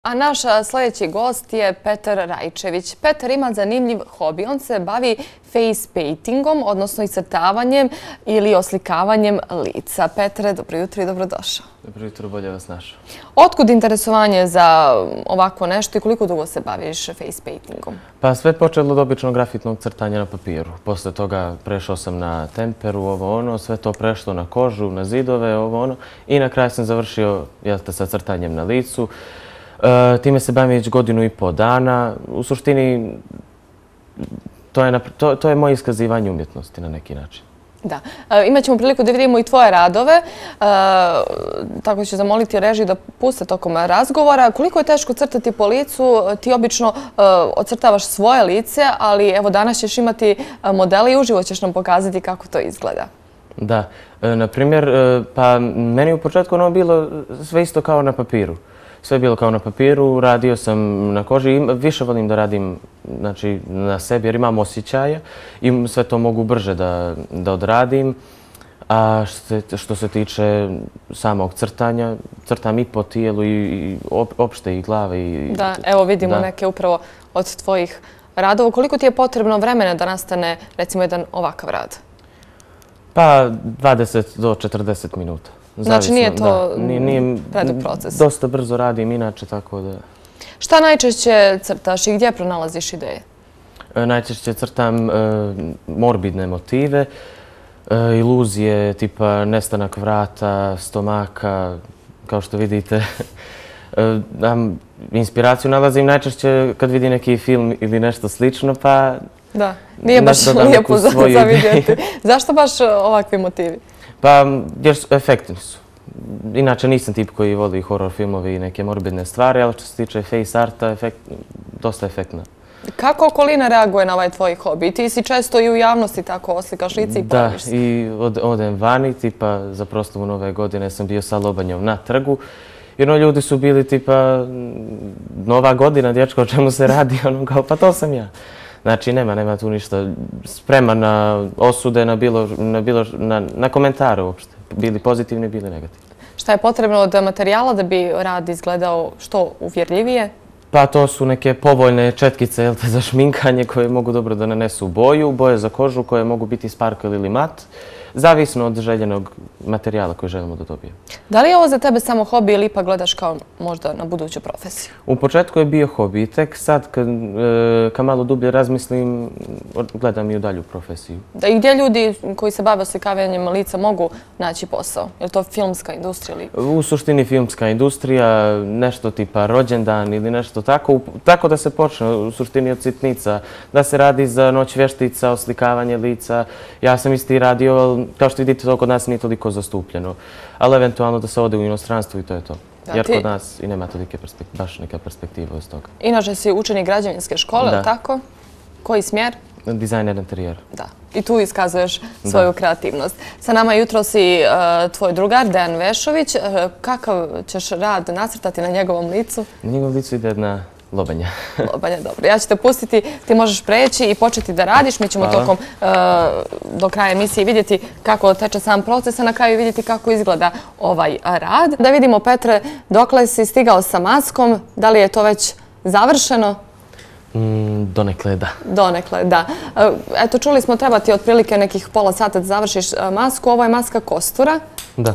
A naš sljedeći gost je Petar Rajčević. Petar ima zanimljiv hobi. On se bavi face paintingom, odnosno iscrtavanjem ili oslikavanjem lica. Petare, dobro jutro i dobrodošao. Dobro jutro, bolje vas našao. Otkud interesovanje za ovako nešto i koliko dugo se baviš face paintingom? Pa sve počelo od običnog grafitnog crtanja na papiru. Posle toga prešao sam na temperu, ovo ono, sve to prešlo na kožu, na zidove, ovo ono. I na kraju sam završio sa crtanjem na licu. Time se bavim već 1,5 dana. U suštini, to je moje iskazivanje umjetnosti na neki način. Da. Imat ćemo priliku da vidimo i tvoje radove. Tako ću zamoliti režiju da puste tokom razgovora. Koliko je teško crtati po licu? Ti obično ocrtavaš svoje lice, ali evo danas ćeš imati modele i uživo ćeš nam pokazati kako to izgleda. Da. Na primjer, pa meni u početku ono bilo sve isto kao na papiru. Sve je bilo kao na papiru, radio sam na koži. Više volim da radim na sebi jer imam osjećaja i sve to mogu brže da odradim. A što se tiče samog crtanja, crtam i po tijelu i opšte i glave. Da, evo vidimo neke upravo od tvojih radova. Koliko ti je potrebno vremena da nastane recimo jedan ovakav rad? Pa 20 do 40 minuta. Znači nije to predug proces? Dosta brzo radim inače, tako da... Šta najčešće crtaš i gdje pronalaziš ideje? Najčešće crtam morbidne motive, iluzije tipa nestanak vrata, stomaka, kao što vidite. Inspiraciju nalazim najčešće kad vidim neki film ili nešto slično, pa... Da, nije baš lijepo za vidjeti. Zašto baš ovakvi motivi? Pa, jer efektni su. Inače nisam tip koji voli horor filmove i neke morbidne stvari, ali što se tiče face arta, dosta efektna. Kako okolina reaguje na ovaj tvoj hobi? Ti si često i u javnosti tako oslikaš lice i pojaviš se. Da, i odem vani, tipa za proslavu Nove godine sam bio sa Lobanjom na trgu. Jer ljudi su bili tipa Nova godina, dječko, o čemu se radi, ono kao pa to sam ja. Znači, nema tu ništa. Spreman na osude, na komentare uopšte. Bili pozitivni, bili negativni. Šta je potrebno od materijala da bi rad izgledao što uvjerljivije? Pa to su neke povoljne četkice za šminkanje koje mogu dobro da nanesu boju, boje za kožu koje mogu biti sparkle ili mat. Zavisno od željenog materijala koji želimo da dobijemo. Da li je ovo za tebe samo hobi ili ipak gledaš kao možda na buduću profesiju? U početku je bio hobi. Tek sad kad malo dublje razmislim, gledam i u dalju profesiju. I gdje ljudi koji se bave oslikavanjem lica mogu naći posao? Je li to filmska industrija? U suštini filmska industrija, nešto tipa rođendan ili nešto tako. Tako da se počne u suštini od sitnica. Da se radi za noć vještica, oslikavanje lica. Ja sam isti radio, kao što vidite, to kod nas nije toliko zastupljeno. Ali eventualno da se ode u inostranstvo i to je to. Jer kod nas i nema tolike baš neka perspektiva iz toga. Inače si učenik građevinske škole, ili tako? Koji smjer? Dizajner interijera. Da. I tu iskazuješ svoju kreativnost. Sa nama jutros i tvoj drugar, Dejan Vešović. Kakav ćeš rad nacrtati na njegovom licu? Na njegovom licu ide jedna lobanja. Lobanja, dobro. Ja ću te pustiti, ti možeš preći i početi da radiš. Mi ćemo tokom do kraja emisije vidjeti kako teče sam proces, a na kraju vidjeti kako izgleda ovaj rad. Da vidimo, Petre, dokle si stigao sa maskom, da li je to već završeno? Donekle, da. Donekle, da. Eto, čuli smo, treba ti otprilike nekih pola sata da završiš masku. Ovo je maska kostura. Da.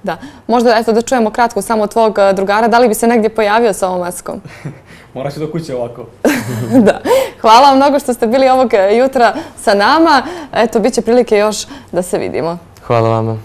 Da. Možda, eto, da čujemo kratko samo tvog drugara. Da li bi se negdje pojavio sa ovom maskom? Moraš do kuće ovako. Da. Hvala vam mnogo što ste bili ovog jutra sa nama. Eto, bit će prilike još da se vidimo. Hvala vama.